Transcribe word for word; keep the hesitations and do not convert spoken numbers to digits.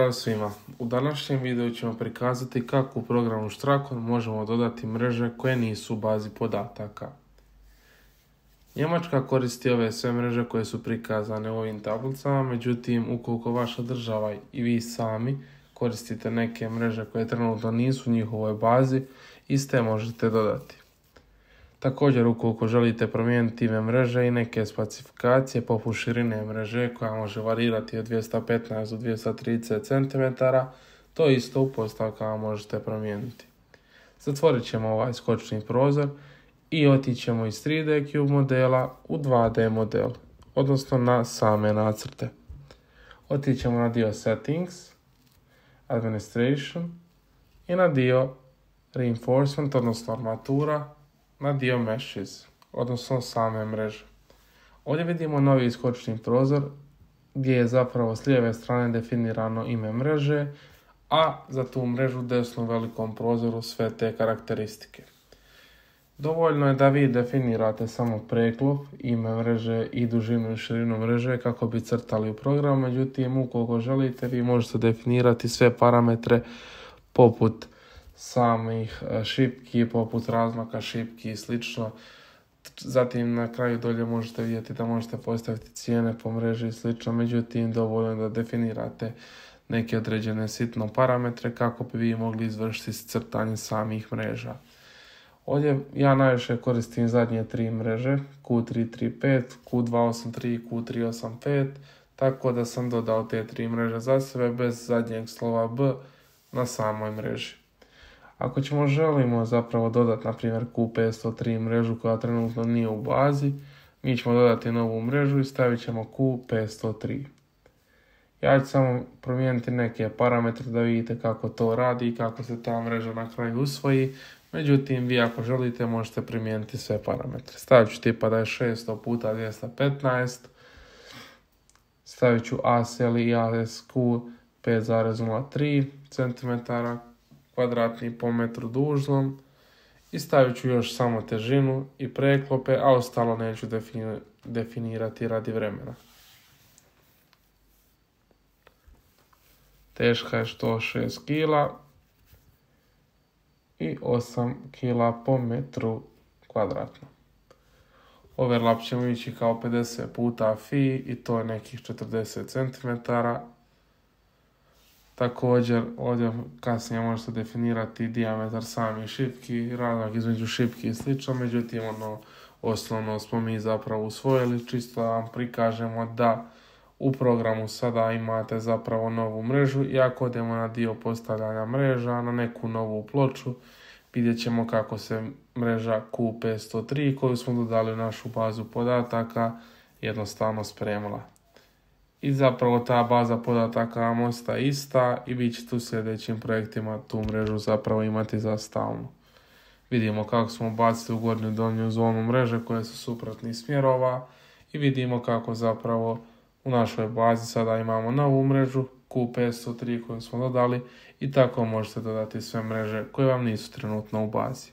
Pozdrav svima! U današnjem videu ćemo prikazati kako u programu Strakon možemo dodati mreže koje nisu u bazi podataka. Njemačka koristi ove sve mreže koje su prikazane u ovim tablicama, međutim ukoliko vaša država i vi sami koristite neke mreže koje trenutno nisu u njihovoj bazi, iste možete dodati. Također, ukoliko želite promijeniti ime mreže i neke specifikacije poput širine mreže koja može varirati od dvjesto petnaest do dvjesto trideset centimetara, to isto u postavkama možete promijeniti. Zatvorit ćemo ovaj skočni prozor i otići ćemo iz tri D Cube modela u dva D model, odnosno na same nacrte. Otići ćemo na dio Settings, Administration i na dio Reinforcement, odnosno armatura, na dio Meshes, odnosno same mreže. Ovdje vidimo novi skočni prozor gdje je zapravo s lijeve strane definirano ime mreže, a za tu mrežu desno u velikom prozoru sve te karakteristike. Dovoljno je da vi definirate samo preklop, ime mreže i dužinu i širinu mreže kako bi crtali u program, međutim ukoliko želite vi možete definirati sve parametre poput samih šipki, poput razmaka šipki i slično. Zatim na kraju dolje možete vidjeti da možete postaviti cijene po mreži i slično, međutim dovoljno je da definirate neke određene sitno parametre kako bi vi mogli izvršiti crtanje samih mreža. Ovdje ja najviše koristim zadnje tri mreže, Q tri tri pet, Q dva osam tri i Q tri osam pet, tako da sam dodao te tri mreže za sebe bez zadnjeg slova B na samoj mreži. Ako ćemo želimo zapravo dodati na primjer Q petsto tri mrežu koja trenutno nije u bazi, mi ćemo dodati novu mrežu i stavit ćemo Q petsto tri. Ja ću samo promijeniti neke parametre da vidite kako to radi i kako se ta mreža na kraju usvoji. Međutim, vi ako želite možete primijeniti sve parametre. Stavit ću tipa da je šesto puta dvjesto petnaest. Stavit ću A S L i A S Q pet zarez nula tri centimetara kvadratni po metru dužnom. I stavit ću još samo težinu i preklope, a ostalo neću definirati radi vremena. Teška je sto šest kila i osam kila po metru kvadratnom. Overlap ćemo ići kao pedeset puta fi i to je nekih četrdeset centimetara. Također ovdje kasnije možete definirati dijametar samih šipki, razmak između šipki i slično, međutim ono osnovno smo mi zapravo usvojili, čisto da vam prikažemo da u programu sada imate zapravo novu mrežu i ako odemo na dio postavljanja mreža, na neku novu ploču, vidjet ćemo kako se mreža Q petsto tri koju smo dodali u našu bazu podataka jednostavno spremila. I zapravo ta baza podataka vam ostaje ista i vi ćete u sljedećim projektima tu mrežu zapravo imati za stalno. Vidimo kako smo bacili u gornju i donju zonu mreže koje su suprotnih smjerova i vidimo kako zapravo u našoj bazi sada imamo novu mrežu Q petsto tri koju smo dodali i tako možete dodati sve mreže koje vam nisu trenutno u bazi.